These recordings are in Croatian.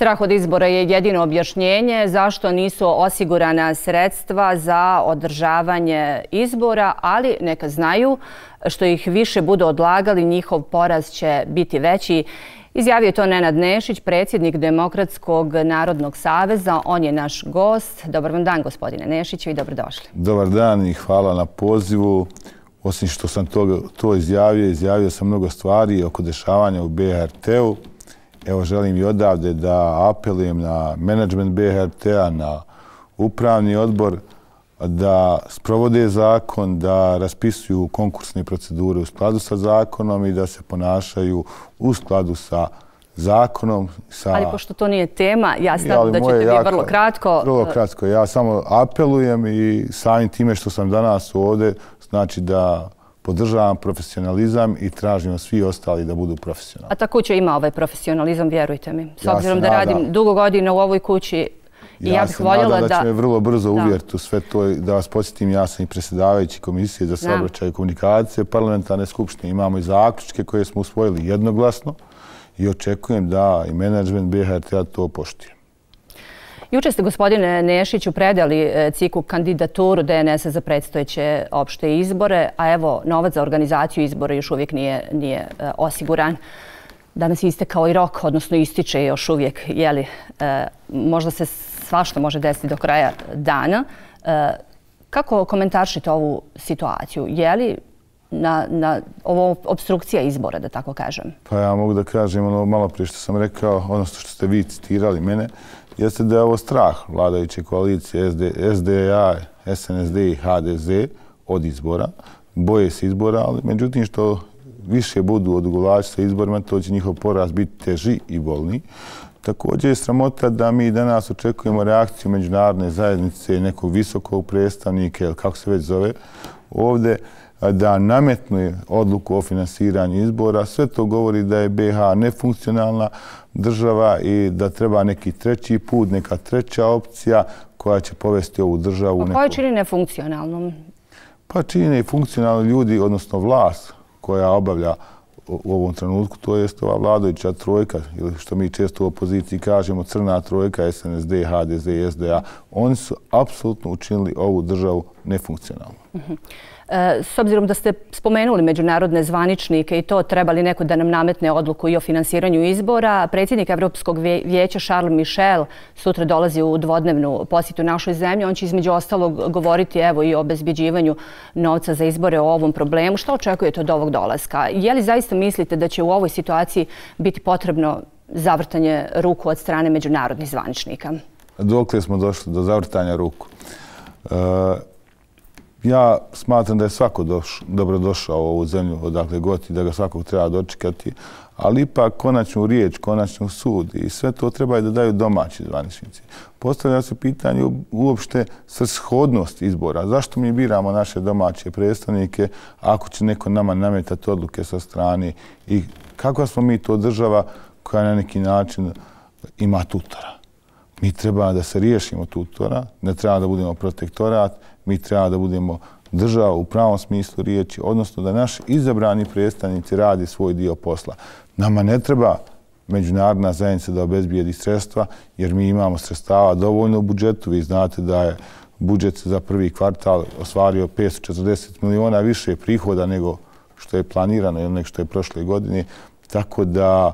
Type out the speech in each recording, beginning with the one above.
Strah od izbora je jedino objašnjenje zašto nisu osigurana sredstva za održavanje izbora, ali neka znaju što ih više budu odlagali, njihov poraz će biti veći. Izjavio je to Nenad Nešić, predsjednik Demokratskog narodnog saveza. On je naš gost. Dobar vam dan, gospodine Nešiću, i dobrodošli. Dobar dan i hvala na pozivu. Osim što sam to izjavio sam mnogo stvari oko dešavanja u BHRT-u. Evo, želim i odavde da apelujem na menadžment BHRT-a, na upravni odbor, da sprovode zakon, da raspisuju konkursne procedure u skladu sa zakonom i da se ponašaju u skladu sa zakonom. Ali pošto to nije tema, ja znam da ćete vi vrlo kratko. Vrlo kratko. Ja samo apelujem i samim time što sam danas ovdje, znači da podržavam profesionalizam i tražim svi ostali da budu profesionalni. A ta kuća ima ovaj profesionalizam, vjerujte mi. S obzirom da radim dugo godina u ovoj kući, ja bih voljela da... Ja se nadam da će me vrlo brzo uvjeriti u sve to. Da vas podsjetim, ja sam i predsjedavajući Komisije za saobraćaj i komunikacije parlamentarne skupštine. Imamo i zaključke koje smo usvojili jednoglasno i očekujem da i menadžment BHRT-a to poštuje. Juče ste, gospodine Nešiću, predali ciklu kandidaturu DNS-a za predstojeće opšte izbore, a evo, novac za organizaciju izbora još uvijek nije osiguran. Danas je istekao i rok, odnosno ističe još uvijek, jeli, možda se svašta može desiti do kraja dana. Kako komentaršite ovu situaciju? Je li ovo obstrukcija izbora, da tako kažem? Pa ja mogu da kažem ono malo prije što sam rekao, odnosno što ste vi citirali mene, jeste da je ovo strah vladajuće koalicije SDA, SNSD i HDZ od izbora. Boje se izbora, ali međutim što više budu odugovlači sa izborima, to će njihov poraz biti teži i bolniji. Također je sramota da mi danas očekujemo reakciju međunarodne zajednice, nekog visokog predstavnika, ili kako se već zove, ovdje da nametnu odluku o finansiranju izbora. Sve to govori da je BiH nefunkcionalna država i da treba neki treći put, neka treća opcija koja će povesti ovu državu. A koja čini nefunkcionalnom? Pa čini i funkcionalni ljudi, odnosno vlast koja obavlja u ovom trenutku, to je ova vladajuća trojka, ili što mi često u opoziciji kažemo crna trojka, SNSD, HDZ i SDA. Oni su apsolutno učinili ovu državu nefunkcionalnu. S obzirom da ste spomenuli međunarodne zvaničnike i to trebali neko da nam nametne odluku i o finansiranju izbora, predsjednik Evropskog vijeća Charles Michel sutra dolazi u dvodnevnu posjetu našoj zemlji. On će između ostalog govoriti evo i o obezbeđivanju novca za izbore, o ovom problemu. Šta očekujete od ovog dolaska? Je li zaista mislite da će u ovoj situaciji biti potrebno zavrtanje ruku od strane međunarodnih zvaničnika? Dokle smo došli do zavrtanja ruku? Ja smatram da je svako dobrodošao u ovu zemlju odakle god i da ga svakog treba dočekati, ali ipak konačnu riječ, konačnu sud i sve to treba da daju domaći zvaničnici. Postavlja se pitanje uopšte svrsishodnost izbora. Zašto mi biramo naše domaće predstavnike ako će neko nama nametati odluke sa strane i kakva smo mi to država koja na neki način ima tutora? Mi treba da se riješimo tutora, ne treba da budemo protektorat, mi treba da budemo država u pravom smislu riječi, odnosno da naši izabrani predstavnici radi svoj dio posla. Nama ne treba međunarodna zajednica da obezbijedi sredstva, jer mi imamo sredstava dovoljno u budžetu. Vi znate da je budžet za prvi kvartal ostvario 540 miliona više prihoda nego što je planirano ili nego što je prošle godine. Tako da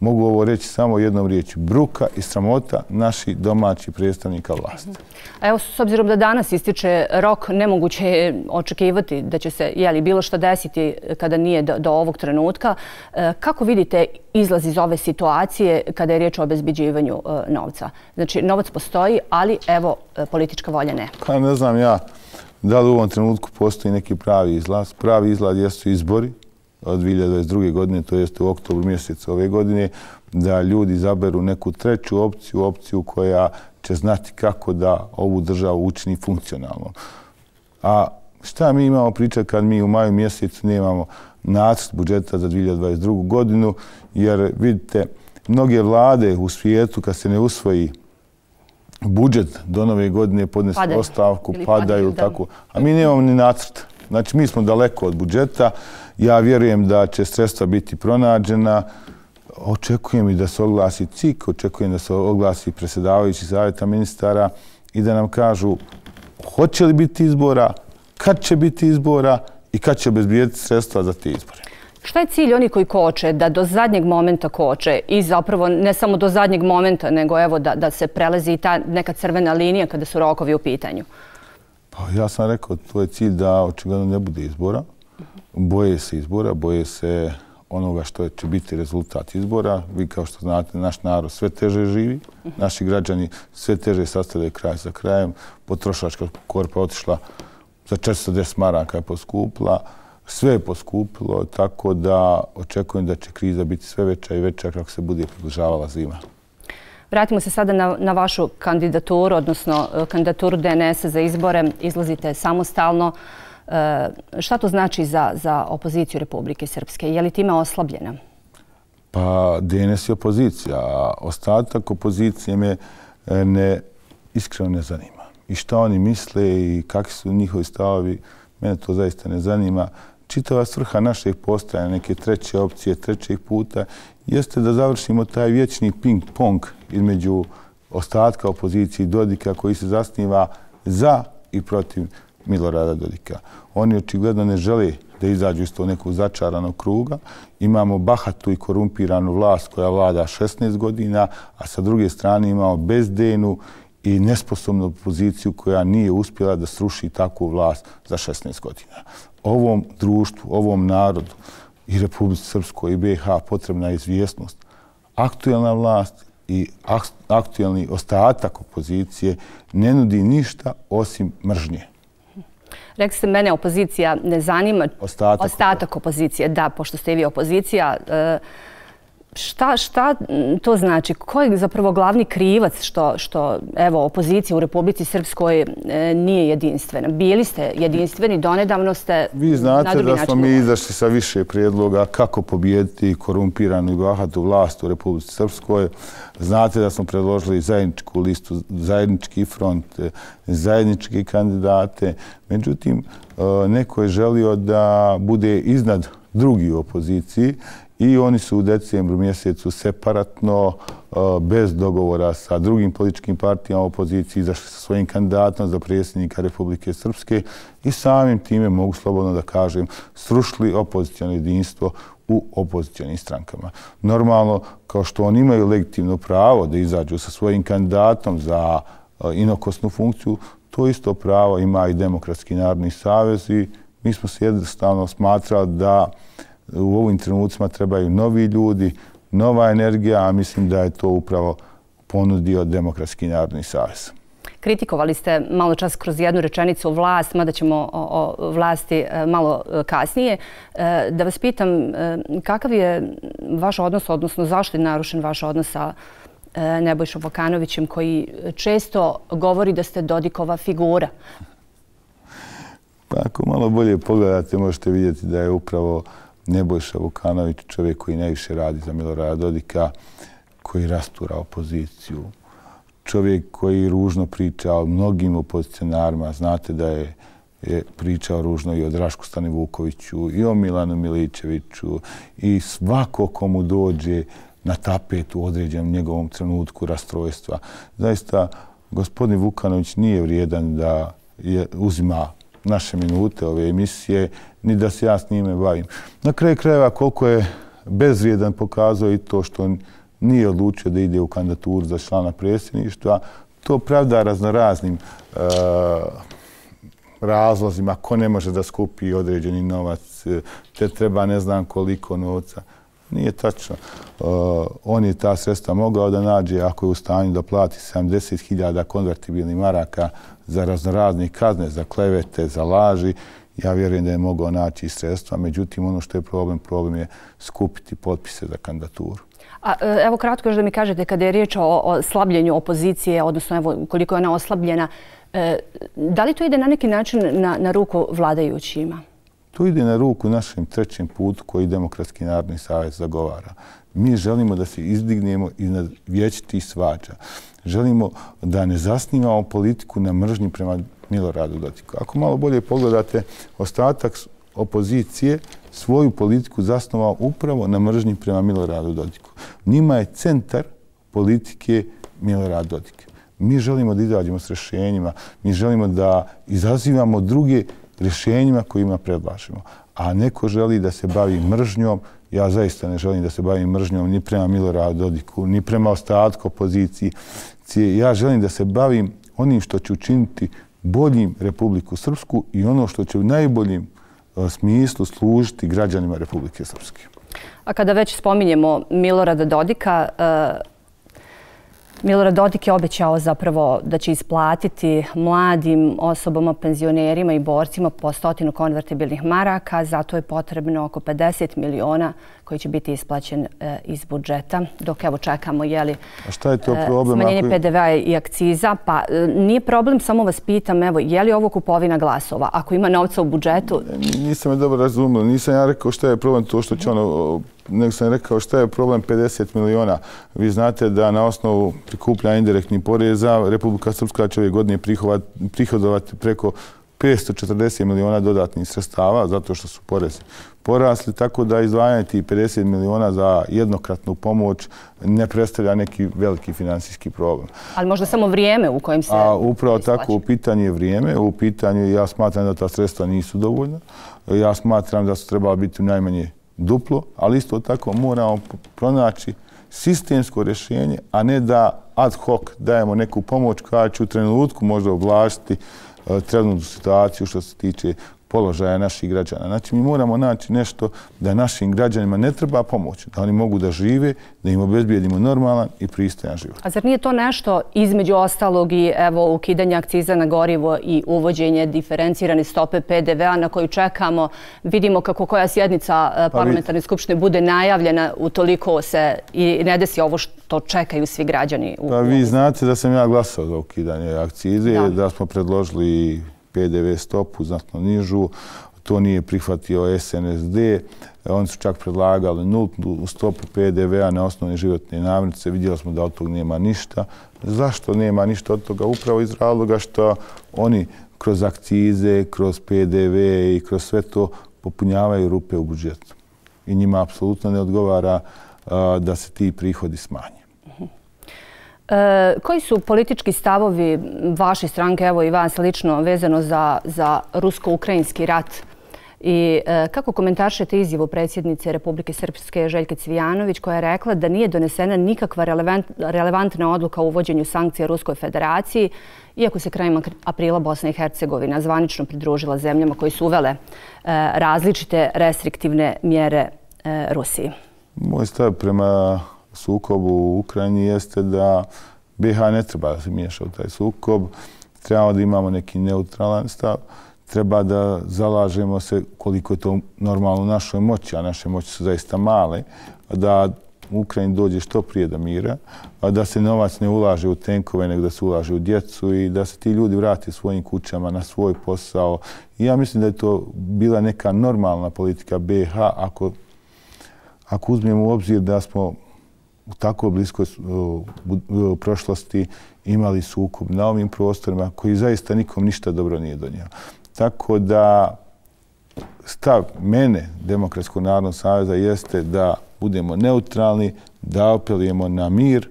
mogu ovo reći samo jednom riječju. Bruka i sramota naših domaćih predstavnika vlasti. Evo, s obzirom da danas ističe rok, nemoguće je očekivati da će se bilo što desiti kada nije do ovog trenutka. Kako vidite izlaz iz ove situacije kada je riječ o obezbeđivanju novca? Znači, novac postoji, ali evo, politička volja ne. Pa ne znam ja da li u ovom trenutku postoji neki pravi izlaz. Pravi izlaz jesu izbori od 2022. godine, to jest u oktobru mjesecu ove godine, da ljudi izaberu neku treću opciju koja će znati kako da ovu državu učini funkcionalno. A šta mi imamo pričati kad mi u maju mjesecu nemamo nacrt budžeta za 2022. godinu, jer vidite, mnoge vlade u svijetu kad se ne usvoji budžet do nove godine podnesu ostavku, padaju, tako. A mi nemamo ni nacrt. Znači, mi smo daleko od budžeta. Ja vjerujem da će sredstva biti pronađena. Očekujem i da se oglasi CIK, očekujem da se oglasi predsjedavajući savjeta ministara i da nam kažu hoće li biti izbora, kad će biti izbora i kad će obezbijediti sredstva za te izbore. Šta je cilj oni koji koče, da do zadnjeg momenta koče i zapravo ne samo do zadnjeg momenta, nego evo da se prelezi i ta neka crvena linija kada su rokovi u pitanju? Pa ja sam rekao, to je cilj da očigledno ne bude izbora. Boje se izbora, boje se onoga što će biti rezultat izbora. Vi kao što znate, naš narod sve teže živi, naši građani sve teže sastavljaju kraj za krajem. Potrošačka korpa otišla za 410 maraka je poskupila. Sve je poskupilo, tako da očekujem da će kriza biti sve veća i veća kako se bude približavala zima. Vratimo se sada na vašu kandidaturu, odnosno kandidaturu DNS-a za izbore. Izlazite samostalno. Šta to znači za opoziciju Republike Srpske? Je li time oslabljena? Pa DNS je opozicija, a ostatak opozicije me iskreno ne zanima. I šta oni misle i kakvi su njihovi stavovi, mene to zaista ne zanima. Čitava svrha našeg postojanja, neke treće opcije, trećeg puta, jeste da završimo taj vječni ping-pong između ostatka opozicije i Dodika koji se zasniva za i protiv Milorada Dodika. Oni očigledno ne žele da izađu iz tog nekog začaranog kruga. Imamo bahatu i korumpiranu vlast koja vlada 16 godina, a sa druge strane imamo bezdejnu i nesposobnu opoziciju koja nije uspjela da sruši takvu vlast za 16 godina. Ovom društvu, ovom narodu i Republici Srpskoj i BiH potrebna je izvjesnost. Aktuelna vlast i aktuelni ostatak opozicije ne nudi ništa osim mržnje. Rekli ste, mene opozicija ne zanima. Ostatak opozicije, da, pošto ste i vi opozicija. Šta to znači? Ko je zapravo glavni krivac što evo, opozicija u Republici Srpskoj nije jedinstvena? Bili ste jedinstveni, donedavno ste na drugi način. Vi znate da smo mi izašli sa više prijedloga kako pobijediti korumpiranu i bahatu vlast u Republici Srpskoj. Znate da smo predložili zajedničku listu, zajednički front, zajedničke kandidate. Međutim, neko je želio da bude iznad drugi u opoziciji i oni su u decembru mjesecu separatno, bez dogovora sa drugim političkim partijama u opoziciji, izašli sa svojim kandidatom za predsjednika Republike Srpske i samim time, mogu slobodno da kažem, srušili opoziciono jedinstvo u opozicionim strankama. Normalno, kao što oni imaju legitimno pravo da izađu sa svojim kandidatom za inokosnu funkciju, to isto pravo ima i Demokratski narodni savez i mi smo se jednostavno smatrali da u ovim trenucima trebaju novi ljudi, nova energija, a mislim da je to upravo ponudio Demokratski narodni savez. Kritikovali ste malo čas kroz jednu rečenicu vlast, mada ćemo o vlasti malo kasnije. Da vas pitam, kakav je vaš odnos, odnosno zašto je narušen vaš odnos sa Nebojšom Vukanovićem koji često govori da ste Dodikova figura? Pa ako malo bolje pogledate, možete vidjeti da je upravo Nebojša Vukanović čovjek koji najviše radi za Milorada Dodika, koji rastura opoziciju. Čovjek koji ružno priča o mnogim opozicionarima. Znate da je pričao ružno i o Drašku Stanivukoviću i o Milanu Miličeviću i svako komu dođe na tapet u određenom njegovom trenutku rastrojstva. Zaista, gospodin Vukanović nije vrijedan da uzima naše minute ove emisije, ni da se ja s njime bavim. Na kraju krajeva koliko je bezvrijedan pokazao i to što nije odlučio da ide u kandidaturu za člana predsjedništva, to pravda raznoraznim razlozima. Ko ne može da skupi određeni novac, te treba ne znam koliko novca. Nije tačno. On je ta sredstva mogao da nađe ako je u stanju da plati 70.000 konvertibilnih maraka za raznorazne kazne, za klevete, za laži. Ja vjerujem da je mogao naći sredstva. Međutim, ono što je problem je skupiti potpise za kandidaturu. Evo kratko još da mi kažete, kada je riječ o slabljenju opozicije, odnosno evo koliko je ona oslabljena, da li to ide na neki način na ruku vladajućima? To ide na ruku našem trećem putu koji Demokratski narodni savez zagovara. Mi želimo da se izdignemo iznad vječitih svađa. Želimo da ne zasnivamo politiku na mržnji prema Miloradu Dodiku. Ako malo bolje pogledate, ostatak opozicije svoju politiku zasnovao upravo na mržnji prema Miloradu Dodiku. Njima je centar politike Milorad Dodik. Mi želimo da izađemo s rješenjima, mi želimo da izazivamo druge rješenjima kojima predlažemo. A neko želi da se bavi mržnjom, ja zaista ne želim da se bavim mržnjom ni prema Miloradu Dodiku, ni prema ostatku opozicije. Ja želim da se bavim onim što će učiniti boljim Republiku Srpsku i ono što će u najboljem smislu služiti građanima Republike Srpske. A kada već spominjemo Milorada Dodika, Milorad Dodik je obećao zapravo da će isplatiti mladim osobama, penzionerima i borcima po 100 konvertibilnih maraka. Zato je potrebno oko 50 miliona koji će biti isplaćen iz budžeta. Dok evo čekamo smanjenje PDV-a i akciza. Pa nije problem, samo vas pitam, evo, je li ovo kupovina glasova? Ako ima novca u budžetu... Nisam me dobro razumio. Nisam ja rekao šta je problem to što će ono... Nego sam rekao šta je problem 50 miliona. Vi znate da na osnovu prikupljanja indirektnih poreza Republika Srpska će ove godine prihodovati preko 540 miliona dodatnih sredstava zato što su porezi porasli, tako da izdvajanje tih 50 miliona za jednokratnu pomoć ne predstavlja neki veliki finansijski problem. Ali možda samo vrijeme u kojem se upravo tako, u pitanju je vrijeme. U pitanju ja smatram da ta sredstva nisu dovoljna. Ja smatram da su trebala biti najmanje duplo, ali isto tako moramo pronaći sistemsko rješenje, a ne da ad hoc dajemo neku pomoć koja će u trenutku možda ublažiti trenutnu situaciju što se tiče položaja naših građana. Znači, mi moramo naći nešto da našim građanima ne treba pomoć, da oni mogu da žive, da im obezbijedimo normalan i pristojan život. A zar nije to nešto između ostalog i evo ukidanja akciza na gorivo i uvođenje diferencirane stope PDV-a na koju čekamo? Vidimo kako koja sjednica parlamentarne skupštine bude najavljena, utoliko se i ne desi ovo što čekaju svi građani. Pa vi znate da sam ja glasao za ukidanje akcize, da smo predložili PDV stopu znatno nižu, to nije prihvatio SNSD, oni su čak predlagali nultnu stopu PDV-a na osnovne životne namirnice, vidjeli smo da od toga nema ništa. Zašto nema ništa od toga? Upravo iz razloga što oni kroz akcize, kroz PDV i kroz sve to popunjavaju rupe u budžetu. I njima apsolutno ne odgovara da se ti prihodi smanje. Koji su politički stavovi vaše stranke, evo i vas lično, vezano za rusko-ukrajinski rat? I kako komentaršete izjavu predsjednice Republike Srpske Željke Cvijanović koja je rekla da nije donesena nikakva relevantna odluka o uvođenju sankcija Ruskoj federaciji, iako se krajem aprila Bosna i Hercegovina zvanično pridružila zemljama koji su uvele različite restriktivne mjere Rusiji? Moj stav prema sukobu u Ukrajini jeste da BiH ne treba da se miješa u taj sukob, trebamo da imamo neki neutralan stav, treba da zalažemo se koliko je to normalno u našoj moći, a naše moći su zaista male, da u Ukrajini dođe što prije do mira, da se novac ne ulaže u tenkove, nego da se ulaže u djecu i da se ti ljudi vrate svojim kućama na svoj posao. I ja mislim da je to bila neka normalna politika BiH ako uzmemo u obzir da smo u tako bliskoj prošlosti imali sukob na ovim prostorima koji zaista nikom ništa dobro nije donio. Tako da stav mene, Demokratskog narodnog saveza, jeste da budemo neutralni, da apelujemo na mir,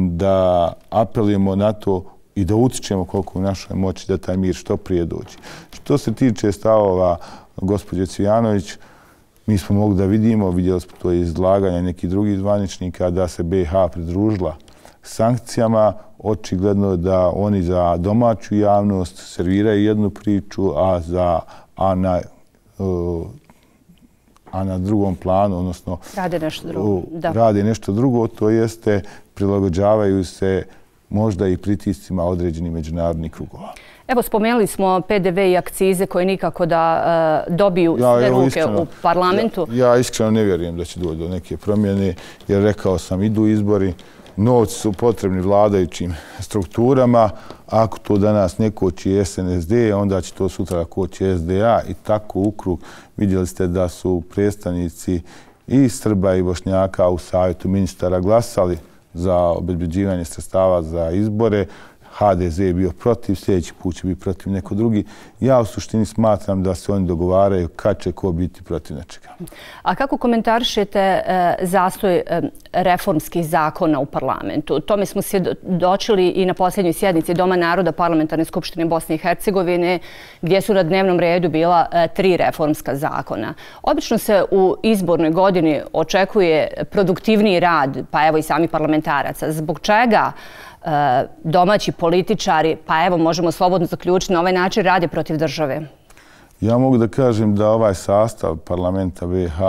da apelujemo na to i da utičemo koliko u našoj moći da taj mir što prije dođe. Što se tiče stavova gospođe Cvijanović, mi smo mogli da vidjeli smo to izlaganje nekih drugih zvaničnika, da se BiH pridružila sankcijama. Očigledno da oni za domaću javnost serviraju jednu priču, a na drugom planu, odnosno rade nešto drugo, to jeste prilagođavaju se možda i pritiscima određenih međunarodnih krugova. Evo, spomenuli smo PDV i akcize koje nikako da dobiju sve ruke u parlamentu. Ja iskreno ne vjerujem da će doći do neke promjene, jer rekao sam, idu izbori, novci su potrebni vladajućim strukturama. Ako to danas ne koči SNSD, onda će to sutra koči SDA i tako u krug. Vidjeli ste da su predstavnici i Srba i Bošnjaka u savjetu ministara glasali za obezbeđivanje sredstava za izbore. HDZ je bio protiv, sljedeći put će biti protiv neko drugi. Ja u suštini smatram da se oni dogovaraju kad će ko biti protiv nečega. A kako komentarišete zastoj reformskih zakona u parlamentu? Tome smo svjedočili i na posljednjoj sjednici Doma naroda Parlamentarne skupštine Bosne i Hercegovine, gdje su na dnevnom redu bila 3 reformska zakona. Obično se u izbornoj godini očekuje produktivniji rad, pa evo i sami parlamentaraca. Zbog čega domaći političari, pa evo možemo slobodno zaključiti, na ovaj način rade protiv države? Ja mogu da kažem da ovaj sastav parlamenta BiH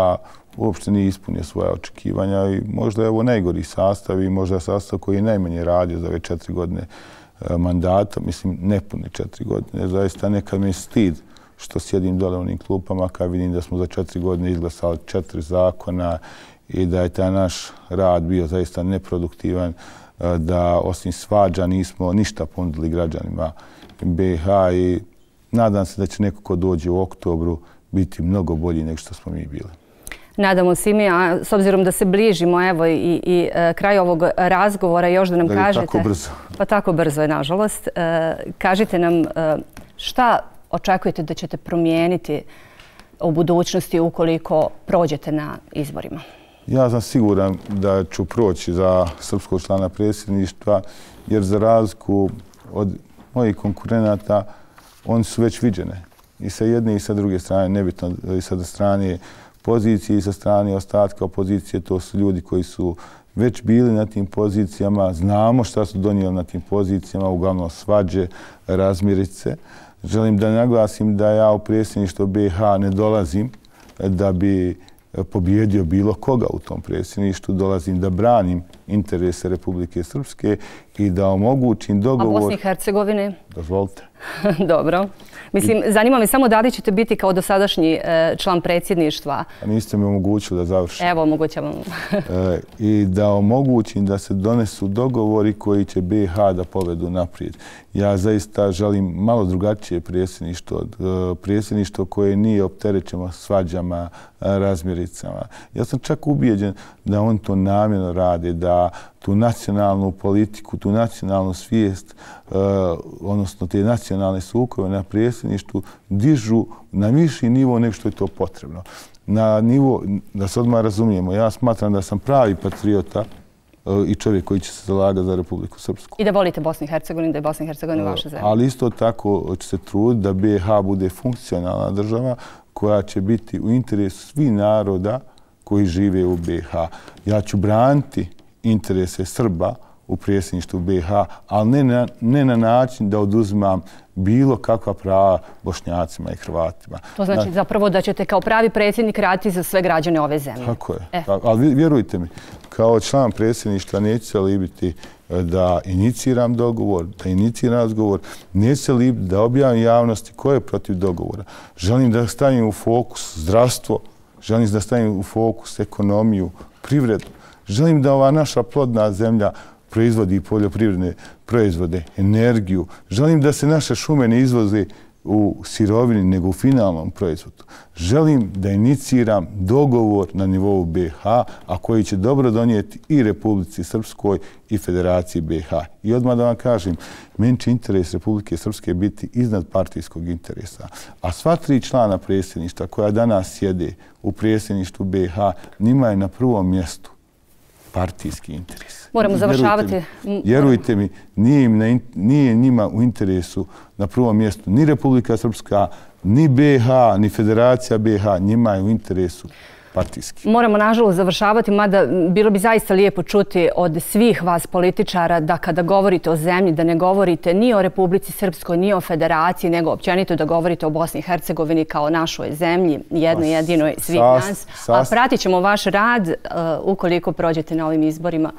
uopšte nije ispunio svoje očekivanja i možda je ovo najgori sastav i možda je sastav koji je najmanje radio za ove 4 godine mandata, mislim nepune 4 godine. Zaista nekad mi je stid što sjedim dole u onim klupama kad vidim da smo za 4 godine izglasali 4 zakona i da je taj naš rad bio zaista neproduktivan, da osim svađa nismo ništa ponudili građanima BiH i nadam se da će neko ko dođe u oktobru biti mnogo bolji nego što smo mi bili. Nadamo se i mi, a s obzirom da se bližimo evo i kraj ovog razgovora, još da nam kažete... Tako brzo. Pa tako brzo je, nažalost. Kažite nam šta očekujete da ćete promijeniti u budućnosti ukoliko prođete na izborima? Ja sam siguran da ću proći za srpskog člana predsjedništva, jer za razliku od mojih konkurenata, oni su već viđene. I sa jedne i sa druge strane, nebitno i sa strane pozicije i sa strane ostatka opozicije, to su ljudi koji su već bili na tim pozicijama, znamo šta su donijeli na tim pozicijama, uglavnom svađe, razmirice. Želim da naglasim da ja u predsjedništvo BiH ne dolazim da bi pobjedio bilo koga u tom predsjedništvu, dolazim da branim interese Republike Srpske i da omogućim dogovor... A Bosni i Hercegovine? Dozvolite. Dobro. Mislim, zanima me samo da li ćete biti kao dosadašnji član predsjedništva. A niste mi omogućili da završim. Evo, omogućavam. I da omogućim da se donesu dogovori koji će BiH da povedu naprijed. Ja zaista želim malo drugačije predsjedništvo, predsjedništvo koje nije opterećeno svađama, razmiricama. Ja sam čak ubijeđen da on to namjerno rade, da tu nacionalnu politiku, tu nacionalnu svijest, odnosno te nacionalne sukobe na predsjedništvu dižu na viši nivo nego što je to potrebno. Na nivo, da se odmah razumijemo, ja smatram da sam pravi patriota i čovjek koji će se zalagati za Republiku Srpsku. I da volite Bosnu i Hercegovinu, da je Bosna i Hercegovina vaša zemlja. Ali isto tako će se truditi da BiH bude funkcionalna država koja će biti u interesu svih naroda koji žive u BiH. Ja ću braniti interese Srba u predsjedništvu BiH, ali ne na način da oduzimam bilo kakva prava Bošnjacima i Hrvatima. To znači zapravo da ćete kao pravi predsjednik raditi za sve građane ove zemlje. Tako je. Ali vjerujte mi, kao član predsjedništva neću se libiti da iniciram dogovor, da iniciram razgovor, neću se libiti da objavim javnosti ko je protiv dogovora. Želim da stavim u fokus zdravstvo, želim da stavim u fokus ekonomiju, privredu. Želim da ova naša plodna zemlja proizvodi poljoprivredne proizvode, energiju. Želim da se naše šume ne izvoze u sirovini, nego u finalnom proizvodu. Želim da iniciram dogovor na nivou BiH, a koji će dobro donijeti i Republici Srpskoj i Federaciji BiH. I odmah da vam kažem, meni će interes Republike Srpske biti iznad partijskog interesa. A sva 3 člana predsjedništva koja danas sjede u predsjedništvu BiH, njima je na prvom mjestu partijski interes. Moramo završavati. Vjerujte mi, nije njima u interesu na prvom mjestu ni Republika Srpska, ni BiH, ni Federacija BiH, njima je u interesu partijski. Moramo, nažalost, završavati, mada bilo bi zaista lijepo čuti od svih vas političara da kada govorite o zemlji, da ne govorite ni o Republici Srpskoj, ni o Federaciji, nego općenito da govorite o Bosni i Hercegovini kao našoj zemlji, jednoj jedinoj svih nas. A pratit ćemo vaš rad ukoliko prođete na ovim izborima.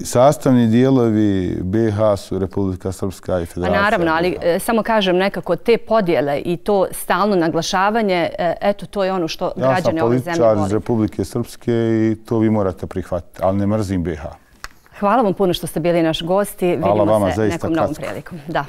Sastavni dijelovi BiH su Republika Srpska i Federacija. Naravno, ali samo kažem nekako te podjele i to stalno naglašavanje, eto, to je ono što građane ove zemlje iz Republike Srpske i to vi morate prihvatiti, ali ne mrzim BiH. Hvala vam puno što ste bili naš gosti. Vidimo se nekom novom prilikom. Da.